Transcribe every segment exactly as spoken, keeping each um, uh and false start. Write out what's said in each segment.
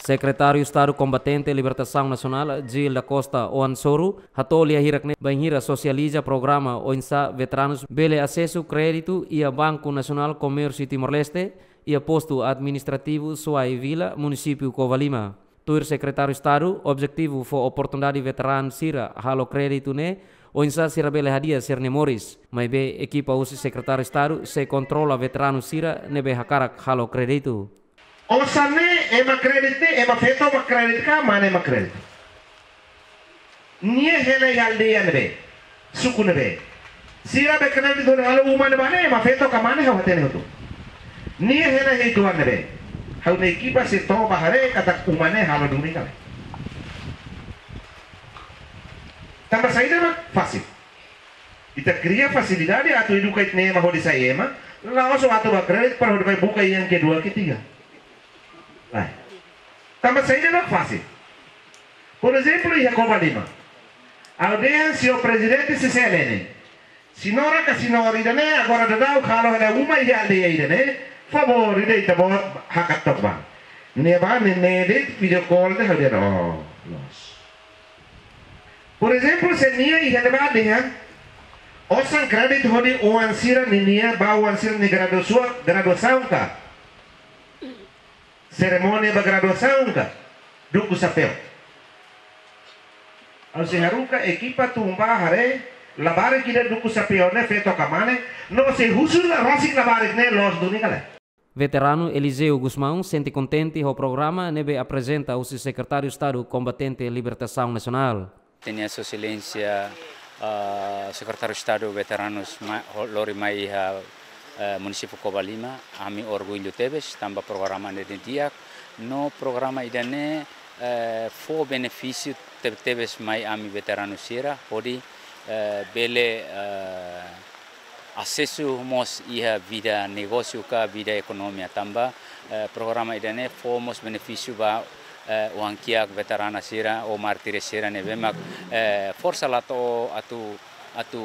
Sekretáriu Estadu Kombatente Libertasaun Nasionál, Gil da Costa Oansoru, hato'o lia hirak ne'e bainhira sosializa programa oinsá veteranus bele asesu kréditu iha Banku Nasionál Komérsiu Timor-Leste, iha postu administrativu Suai Vila, munisípiu Covalima. Tuir Sekretáriu Estadu, objetivu fó oportunidade veteranu sira halo kréditu ne'e, oinsá sira bele hadi'a sira-nia moris. Maibé ekipa husi Sekretáriu Estadu sei kontrola veteranu sira ne'ebé hakarak halo kréditu. Osan ne'e, ema kréditu ne'e, ema feto mak kréditu ka mane mak kréditu? Nia hela iha aldeia ne'ebé, suku ne'ebé? Sira be kréditu hodi halo uma ne'ebá ne'e, ema feto ka mane, ha'u hatene hotu. Nia hela iha uitoan ne'ebé? Ha'u-nia ekipa sei to'o bá haree katak uma ne'e halo duni ka lae. Tanba saida mak fasil? Ita kria fasilidade atu eduka ita-nia ema hodi sai ema, la'ós atu bá kréditu para hodi bá buka yang kedua, ketiga. Lae. Tanba saida mak fasil? Por ezemplu, iha Covalima. Ha'u dehan, señór Prezidente C C L N, señora ka señór ida-ne'e agora daudaun halo hela uma iha aldeia ida-ne'e, favór ida ita-boot hakat took bá. Nia bá, nia, nia de'it video call de'it, ha'u dehan, oh, loos. Por ezemplu, se nia iha ne'ebá dehan osan kréditu hodi oan sira ninia, ba oan sira-nia graduasaun, graduasaun ka, serimónia ba graduasaun ka, duku xapeu. Ha'u sei haruka ekipa tun bá haree labarik ida duku xapeu ne'e, feto ka mane, no sei husu rasik labarik ne'e loos duni ka lae. Veteranu Eliseu Gusmão sente kontente ho programa ne'ebé aprezenta husi Sekretáriu Estadu Kombatente Libertasaun Nasionál. Ita-nia Sua Exelénsia, ah, Sekretáriu Estadu Veteranus ma-, ho-, lori mai iha, eh, munisípiu Covalima, ami orgullu tebes, tanba programa ne'e di'ak, no programa ida-ne'e, eh, fó benefísiu te-, tebes mai ami veteranu sira, hodi, eh, bele, eh, asesu mós iha vida negósiu ka vida ekonomia tanba, eh, programa ida-ne'e fó mós benefísiu ba, eh, oan-kiak veterana sira ou mártire sira ne'ebé mak, eh, forsa la to'o atu, atu,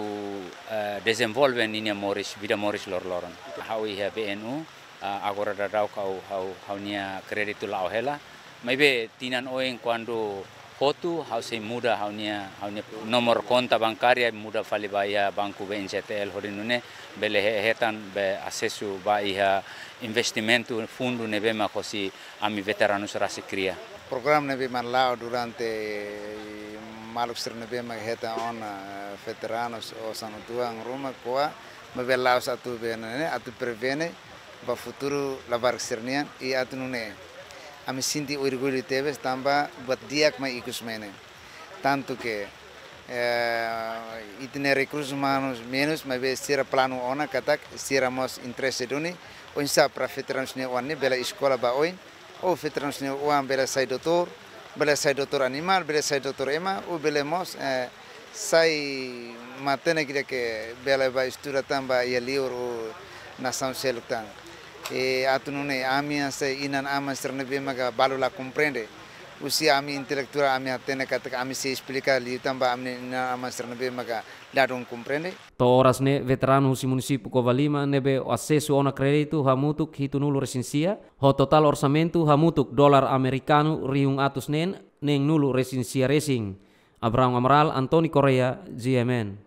eh, dezenvolve ninia moris, vida moris loroloron. Ha'u iha B N U, ah, agora daudaun ha'u, ha'u, ha'u-nia kréditu la'o hela. Maibé tinan oin kuandu hotu ha'u sei muda ha'u-nia, ha'u-nia nomor konta bankária, muda fali ba iha banku B N Z T L hodi nune'e bele he-, hetan be asesu ba iha investimentu fundu ne'ebé mak hosi ami veteranus rasik kria. Programa ne'ebé mak la'o durante maluk sira ne'ebé mak hetan ona, eh, veteranus osan uitoan ruma ko'a, maibé la'ós atu be ne'e, atu prevene ba futuru labarik sira-nian, i atu nune'e ami sente orgullu tebes tanba buat di'ak mak ikus mai ne'e. Tantu ke, eh, ita-nia rekursus umanus menus, maibé sira planu ona katak sira mós interese duni oinsá para veteranus nia oan ne'e bele eskola ba oin, ou veteranus nia oan bele sai doutór, bele sai doutór animál, bele sai doutór ema, ou bele mós, eh, sai matenek ida ke bele bá estuda tan ba iha liur ou nasaun seluk tan. I atu nune'e ami hanesan inan-aman sira ne'ebé maka balu la komprende. Husi ami intelektuál ami hatene katak ami sei esplika liután ba ami inan-aman sira ne'ebé maka ladún komprende. To'o oras ne'e veteranu husi munisípiu Covalima ne'ebé asesu ona kréditu hamutuk hitunulu resin sia, ho totál orsamentu hamutuk dolar amerikanu rihun atus neen neenulu resin sia resin. Abraham Amaral, António Correia, G M N.